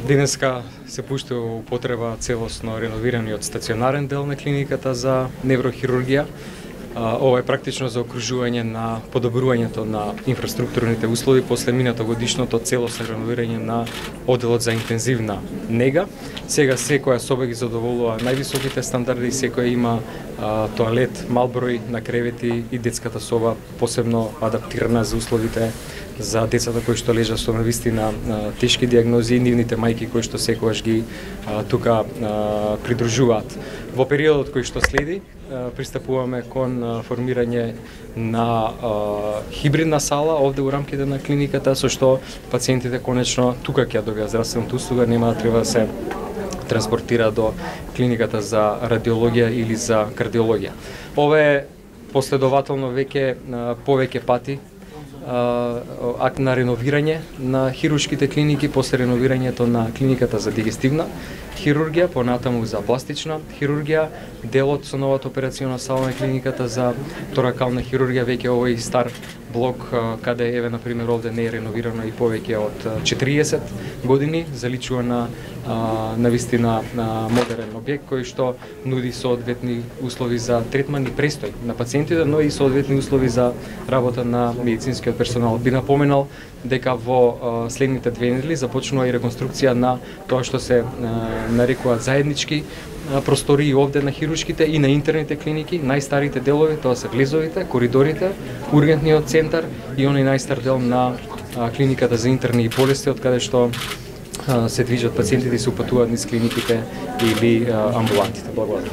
Денеска се пушти во употреба целосно реновираниот стационарен дел на клиниката за неврохирургија. Ова е практично за окружување на подобрувањето на инфраструктурните услови после минатогодишното целосно реновирање на одделот за интензивна нега. Сега секоја соба ги задоволува највисоките стандарди, секоја има тоалет, мал број на кревети и детската соба посебно адаптирана за условите за децата кои што лежат со навистина тешки диагнози и нивните мајки кои што секогаш ги тука придружуваат. Во периодот кој што следи пристапуваме кон формирање на хибридна сала овде во рамките на клиниката, со што пациентите конечно тука ќе добијат здравствената услуга, нема да треба да се транспортира до клиниката за радиологија или за кардиологија. Ова е последователно повеќе пати акт на реновирање на хируршките клиники, после реновирањето на клиниката за дигестивна хирургија, понатаму за пластична хирургија, делот со новата операциона сала на клиниката за торакална хирургија, веќе овој стар блок каде еве на пример овде не е реновирано и повеќе од 40 години, заличува на навистина модерен објект кој што нуди соодветни услови за третман и престој на пациентите, но и соодветни услови за работа на медицинскиот персонал. Би напоменал дека во следните 2 недели започнува и реконструкција на тоа што се нарекуваат заеднички простории овде на хируршките и на интерните клиники. Најстарите делови тоа се влезовите, коридорите, ургентниот центар и оној најстар дел на клиниката за интерни и болести, од каде што се движат пациентите и се упатуваат низ клиниките или амбулантите. Благодарам.